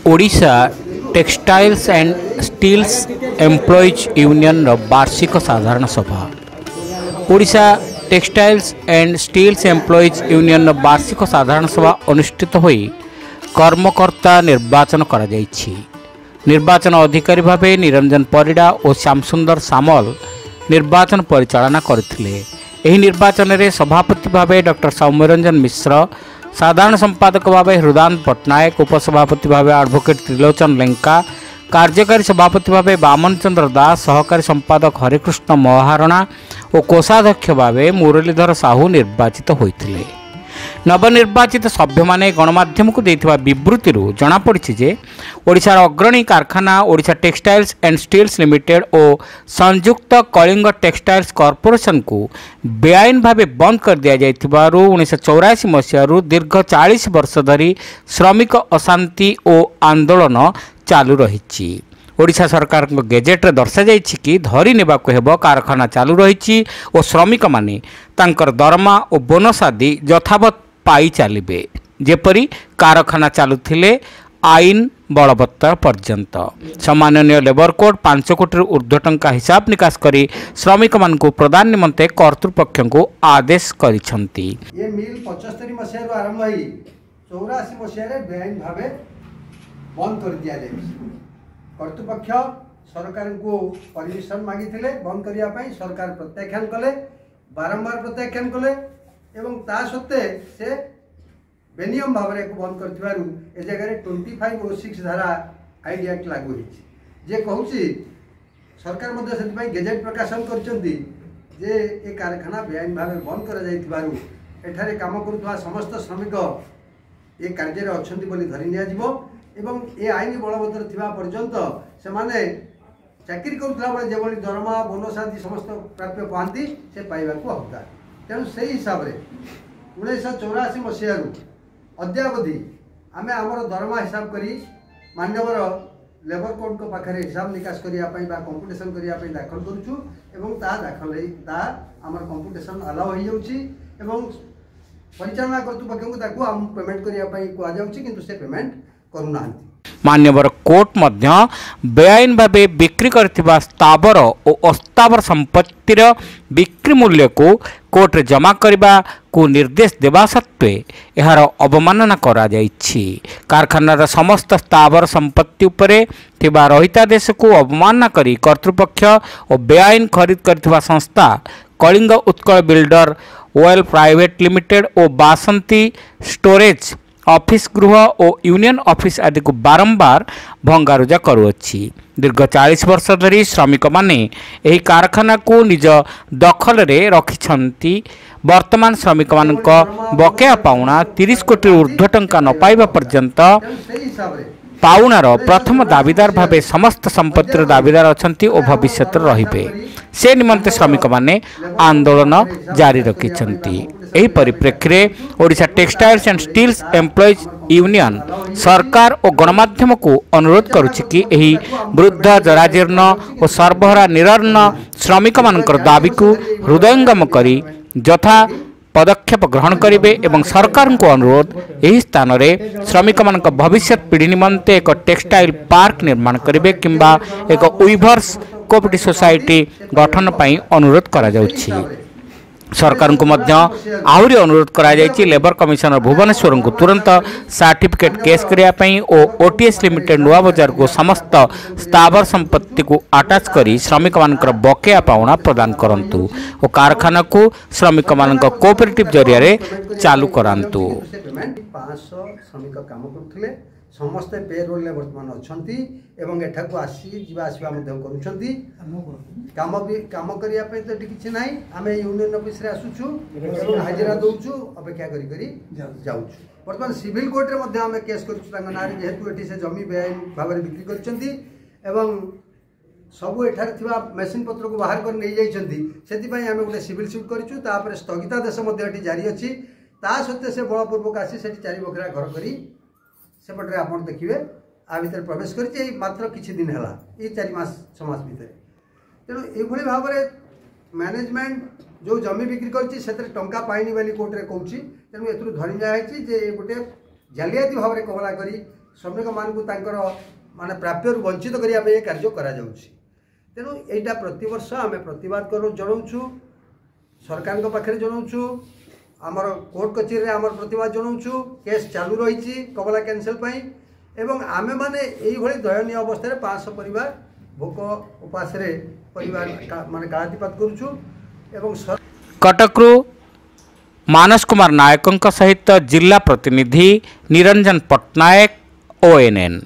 Odisha textiles and steels employees ୟୁନିୟନର ବାର୍ଷିକ ସାଧାରଣ ସଭା। Odisha textiles and steels employees ୟୁନିୟନର ବାର୍ଷିକ ସାଧାରଣ ସଭା ଅନୁଷ୍ଠିତ ହୋଇ କର୍ମକର୍ତ୍ତା ନିର୍ବାଚନ କରାଯାଇଛି। ନିର୍ବାଚନ ଅଧିକାରୀ ଭାବେ ନିରଞ୍ଜନ ପରିଡ଼ା ଓ ଶ୍ୟାମସୁନ୍ଦର ସାମଲ ନିର୍ବାଚନ ପରିଚାଳନା କରିଥିଲେ। ଏହି ନିର୍ବାଚନରେ ସଭାପତି ଭାବେ ଡକ୍ଟର ସୌମ୍ୟରଞ୍ଜନ ମିଶ୍ର, ସାଧାରଣ ସମ୍ପାଦକ ଭାବେ ହୃଦାନ୍ତ ପଟ୍ଟନାୟକ, ଉପସଭାପତି ଭାବେ ଆଡ଼ଭୋକେଟ୍ ତ୍ରିଲୋଚନ ଲେଙ୍କା, କାର୍ଯ୍ୟକାରୀ ସଭାପତି ଭାବେ ବାମନ ଚନ୍ଦ୍ର ଦାସ, ସହକାରୀ ସମ୍ପାଦକ ହରେକୃଷ୍ଣ ମହାରଣା ଓ କୋଷାଧ୍ୟକ୍ଷ ଭାବେ ମୁରଲୀଧର ସାହୁ ନିର୍ବାଚିତ ହୋଇଥିଲେ। ନବନିର୍ବାଚିତ ସଭ୍ୟମାନେ ଗଣମାଧ୍ୟମକୁ ଦେଇଥିବା ବିବୃତ୍ତିରୁ ଜଣାପଡ଼ିଛି ଯେ ଓଡ଼ିଶାର ଅଗ୍ରଣୀ କାରଖାନା Odisha textiles and steels limited ଓ ସଂଯୁକ୍ତ କଳିଙ୍ଗ ଟେକ୍ସଟାଇଲ୍ସ କର୍ପୋରେସନକୁ ବେଆଇନ ଭାବେ ବନ୍ଦ କରିଦିଆଯାଇଥିବାରୁ 1984 ମସିହାରୁ ଦୀର୍ଘ 40 ବର୍ଷ ଧରି ଶ୍ରମିକ ଅଶାନ୍ତି ଓ ଆନ୍ଦୋଳନ ଚାଲୁ ରହିଛି। ଓଡ଼ିଶା ସରକାରଙ୍କ ଗେଜେଟ୍ରେ ଦର୍ଶାଯାଇଛି କି ଧରି ନେବାକୁ ହେବ କାରଖାନା ଚାଲୁ ରହିଛି ଓ ଶ୍ରମିକମାନେ ତାଙ୍କର ଦରମା ଓ ବୋନସ୍ ଆଦି ଯଥାବତ୍ ପାଇ ଚାଲିବେ, ଯେପରି କାରଖାନା ଚାଲୁଥିଲେ ଆଇନ ବଳବତ୍ତର ପର୍ଯ୍ୟନ୍ତ। ସମ୍ମାନନୀୟ ଲେବର କୋର୍ଟ 5 କୋଟିରୁ ଉର୍ଦ୍ଧ୍ୱ ଟଙ୍କା ହିସାବ ନିକାଶ କରି ଶ୍ରମିକମାନଙ୍କୁ ପ୍ରଦାନ ନିମନ୍ତେ କର୍ତ୍ତୃପକ୍ଷଙ୍କୁ ଆଦେଶ କରିଛନ୍ତି। ଏ ମିଲ୍ 75 ମସିହାରୁ ଆରମ୍ଭ ହେଇ 84 ମସିହାରେ ବେଆଇନ ଭାବେ ବନ୍ଦ କରିଦିଆଯାଇଛି। କର୍ତ୍ତୃପକ୍ଷ ସରକାରଙ୍କୁ ପରମିଶନ ମାଗିଥିଲେ ବନ୍ଦ କରିବା ପାଇଁ, ସରକାର ପ୍ରତ୍ୟାଖ୍ୟାନ କଲେ, ବାରମ୍ବାର ପ୍ରତ୍ୟାଖ୍ୟାନ କଲେ ଏବଂ ତା ସତ୍ତ୍ୱେ ସେ ବେନିୟମ ଭାବରେ ଏକୁ ବନ୍ଦ କରିଥିବାରୁ ଏ ଜାଗାରେ 2506 ଧାରା ଆଇଡି ଆକ୍ଟ ଲାଗୁ ହେଇଛି। ଯେ କହୁଛି ସରକାର ମଧ୍ୟ ସେଥିପାଇଁ ଗେଜେଟ୍ ପ୍ରକାଶନ କରିଛନ୍ତି ଯେ ଏ କାରଖାନା ବେଆଇନ ଭାବେ ବନ୍ଦ କରାଯାଇଥିବାରୁ ଏଠାରେ କାମ କରୁଥିବା ସମସ୍ତ ଶ୍ରମିକ ଏ କାର୍ଯ୍ୟରେ ଅଛନ୍ତି ବୋଲି ଧରି ନିଆଯିବ ଏବଂ ଏ ଆଇନ ବଳବତ୍ତର ଥିବା ପର୍ଯ୍ୟନ୍ତ ସେମାନେ ଚାକିରି କରୁଥିଲା ବେଳେ ଯେଭଳି ଦରମା, ବୋନସ୍ ଆଦି ସମସ୍ତ ପ୍ରାପ୍ୟ ପାଆନ୍ତି ସେ ପାଇବାକୁ ହକଦାର। ତେଣୁ ସେଇ ହିସାବରେ 1984 ମସିହାରୁ ଅଦ୍ୟାବଧି ଆମେ ଆମର ଦରମା ହିସାବ କରି ମାନ୍ୟବର ଲେବର କୋର୍ଟଙ୍କ ପାଖରେ ହିସାବ ନିକାଶ କରିବା ପାଇଁ ବା କମ୍ପୁଟେସନ୍ କରିବା ପାଇଁ ଦାଖଲ କରୁଛୁ ଏବଂ ତାହା ଦାଖଲ ହେଇ ତାହା ଆମର କମ୍ପୁଟେସନ୍ ଆଲାଉ ହୋଇଯାଉଛି ଏବଂ ପରିଚାଳନା କର୍ତ୍ତୃପକ୍ଷଙ୍କୁ ତାକୁ ଆମକୁ ପେମେଣ୍ଟ କରିବା ପାଇଁ କୁହାଯାଉଛି, କିନ୍ତୁ ସେ ପେମେଣ୍ଟ କରୁନାହାନ୍ତି। ମାନ୍ୟବର କୋର୍ଟ ମଧ୍ୟ ବେଆଇନ ଭାବେ ବିକ୍ରି କରିଥିବା ସ୍ଥାବର ଓ ଅସ୍ଥାବର ସମ୍ପତ୍ତିର ବିକ୍ରି ମୂଲ୍ୟକୁ କୋର୍ଟରେ ଜମା କରିବାକୁ ନିର୍ଦ୍ଦେଶ ଦେବା ସତ୍ତ୍ୱେ ଏହାର ଅବମାନନା କରାଯାଇଛି। କାରଖାନାର ସମସ୍ତ ସ୍ଥାବର ସମ୍ପତ୍ତି ଉପରେ ଥିବା ରହିତାଦେଶକୁ ଅବମାନନା କରି କର୍ତ୍ତୃପକ୍ଷ ଓ ବେଆଇନ ଖରିଦ କରିଥିବା ସଂସ୍ଥା Kalinga Utkal builder oil private limited ଓ ବାସନ୍ତୀ ଷ୍ଟୋରେଜ୍ ଅଫିସ ଗୃହ ଓ ୟୁନିୟନ ଅଫିସ ଆଦିକୁ ବାରମ୍ବାର ଭଙ୍ଗାରୁଜା କରୁଅଛି। ଦୀର୍ଘ 40 ବର୍ଷ ଧରି ଶ୍ରମିକମାନେ ଏହି କାରଖାନାକୁ ନିଜ ଦଖଲରେ ରଖିଛନ୍ତି। ବର୍ତ୍ତମାନ ଶ୍ରମିକମାନଙ୍କ ବକେୟା ପାଉଣା 30 କୋଟିରୁ ଉର୍ଦ୍ଧ୍ୱ ଟଙ୍କା ନ ପାଇବା ପର୍ଯ୍ୟନ୍ତ ପାଉଣାର ପ୍ରଥମ ଦାବିଦାର ଭାବେ ସମସ୍ତ ସମ୍ପତ୍ତିର ଦାବିଦାର ଅଛନ୍ତି ଓ ଭବିଷ୍ୟତରେ ରହିବେ। ସେ ନିମନ୍ତେ ଶ୍ରମିକମାନେ ଆନ୍ଦୋଳନ ଜାରି ରଖିଛନ୍ତି। ଏହି ପରିପ୍ରେକ୍ଷୀରେ Odisha textiles and steels employees union ସରକାର ଓ ଗଣମାଧ୍ୟମକୁ ଅନୁରୋଧ କରୁଛି କି ଏହି ବୃଦ୍ଧ, ଜରାଜୀର୍ଣ୍ଣ ଓ ସର୍ବହରା ନିରନ୍ନ ଶ୍ରମିକମାନଙ୍କର ଦାବିକୁ ହୃଦୟଙ୍ଗମ କରି ଯଥା ପଦକ୍ଷେପ ଗ୍ରହଣ କରିବେ ଏବଂ ସରକାରଙ୍କୁ ଅନୁରୋଧ ଏହି ସ୍ଥାନରେ ଶ୍ରମିକମାନଙ୍କ ଭବିଷ୍ୟତ ପିଢ଼ି ନିମନ୍ତେ ଏକ ଟେକ୍ସଟାଇଲ୍ ପାର୍କ ନିର୍ମାଣ କରିବେ କିମ୍ବା ଏକ ୱିଭର୍ସ କୋଅପରେଟିଭ୍ ସୋସାଇଟି ଗଠନ ପାଇଁ ଅନୁରୋଧ କରାଯାଉଛି। ସରକାରଙ୍କୁ ମଧ୍ୟ ଆହୁରି ଅନୁରୋଧ କରାଯାଇଛି ଲେବର କମିଶନର ଭୁବନେଶ୍ୱରଙ୍କୁ ତୁରନ୍ତ ସାର୍ଟିଫିକେଟ୍ କେସ୍ କରିବା ପାଇଁ ଓ ଓଟିଏସ୍ ଲିମିଟେଡ୍ ନୂଆ ବଜାରକୁ ସମସ୍ତ ସ୍ଥାବର ସମ୍ପତ୍ତିକୁ ଆଟାଚ୍ କରି ଶ୍ରମିକମାନଙ୍କର ବକେୟା ପାଉଣା ପ୍ରଦାନ କରନ୍ତୁ ଓ କାରଖାନାକୁ ଶ୍ରମିକମାନଙ୍କ କୋଅପରେଟିଭ୍ ଜରିଆରେ ଚାଲୁ କରାନ୍ତୁ। 500 ଶ୍ରମିକ କାମ କରୁଥିଲେ, ସମସ୍ତେ ପେ ରୋଲରେ ବର୍ତ୍ତମାନ ଅଛନ୍ତି ଏବଂ ଏଠାକୁ ଆସି ଯିବା ଆସିବା ମଧ୍ୟ କରୁଛନ୍ତି। କାମ ବି କାମ କରିବା ପାଇଁ ତ ଏଠି କିଛି ନାହିଁ। ଆମେ ୟୁନିୟନ ଅଫିସରେ ଆସୁଛୁ ଏବଂ ହାଜିରା ଦେଉଛୁ, ଅପେକ୍ଷା କରି କରି ଯାଉଛୁ। ବର୍ତ୍ତମାନ ସିଭିଲ କୋର୍ଟରେ ମଧ୍ୟ ଆମେ କେସ୍ କରିଛୁ ତାଙ୍କ ନାଁରେ, ଯେହେତୁ ଏଠି ସେ ଜମି ବେଆଇନ ଭାବରେ ବିକ୍ରି କରିଛନ୍ତି ଏବଂ ସବୁ ଏଠାରେ ଥିବା ମେସିନ୍ ପତ୍ରକୁ ବାହାର କରି ନେଇଯାଇଛନ୍ତି, ସେଥିପାଇଁ ଆମେ ଗୋଟେ ସିଭିଲ ସୁଟ୍ କରିଛୁ। ତାପରେ ସ୍ଥଗିତାଦେଶ ମଧ୍ୟ ଏଠି ଜାରି ଅଛି। ତା ସତ୍ତ୍ୱେ ସେ ବଳପୂର୍ବକ ଆସି ସେଠି 4 ବଖରା ଘର କରି ସେପଟରେ ଆପଣ ଦେଖିବେ ଆ ଭିତରେ ପ୍ରବେଶ କରିଛି। ଏଇ ମାତ୍ର କିଛି ଦିନ ହେଲା, ଏଇ 4 ମାସ 6 ମାସ ଭିତରେ। ତେଣୁ ଏଇଭଳି ଭାବରେ ମ୍ୟାନେଜମେଣ୍ଟ ଯେଉଁ ଜମି ବିକ୍ରି କରିଛି ସେଥିରେ ଟଙ୍କା ପାଇନି ବୋଲି କୋର୍ଟରେ କହୁଛି। ତେଣୁ ଏଥିରୁ ଧରି ନିଆହେଇଛି ଯେ ଗୋଟେ ଜାଲିଆତି ଭାବରେ କବଲା କରି ଶ୍ରମିକମାନଙ୍କୁ ତାଙ୍କର ମାନେ ପ୍ରାପ୍ୟରୁ ବଞ୍ଚିତ କରିବା ପାଇଁ ଏ କାର୍ଯ୍ୟ କରାଯାଉଛି। ତେଣୁ ଏଇଟା ପ୍ରତିବର୍ଷ ଆମେ ପ୍ରତିବାଦ କରୁ, ଜଣାଉଛୁ, ସରକାରଙ୍କ ପାଖରେ ଜଣାଉଛୁ, ଆମର କୋର୍ଟ କଚେରୀରେ ଆମର ପ୍ରତିବାଦ ଜଣାଉଛୁ। କେସ୍ ଚାଲୁ ରହିଛି କମଲା କ୍ୟାନସେଲ୍ ପାଇଁ ଏବଂ ଆମେମାନେ ଏଇଭଳି ଦୟନୀୟ ଅବସ୍ଥାରେ 500 ପରିବାର ଭୋକ ଉପାସରେ ପରିବାର ମାନେ କାଳାତିପାତ କରୁଛୁ। ଏବଂ କଟକରୁ ମାନସ କୁମାର ନାୟକଙ୍କ ସହିତ ଜିଲ୍ଲା ପ୍ରତିନିଧି ନିରଞ୍ଜନ ପଟ୍ଟନାୟକ, ଓଏନ୍ଏନ୍।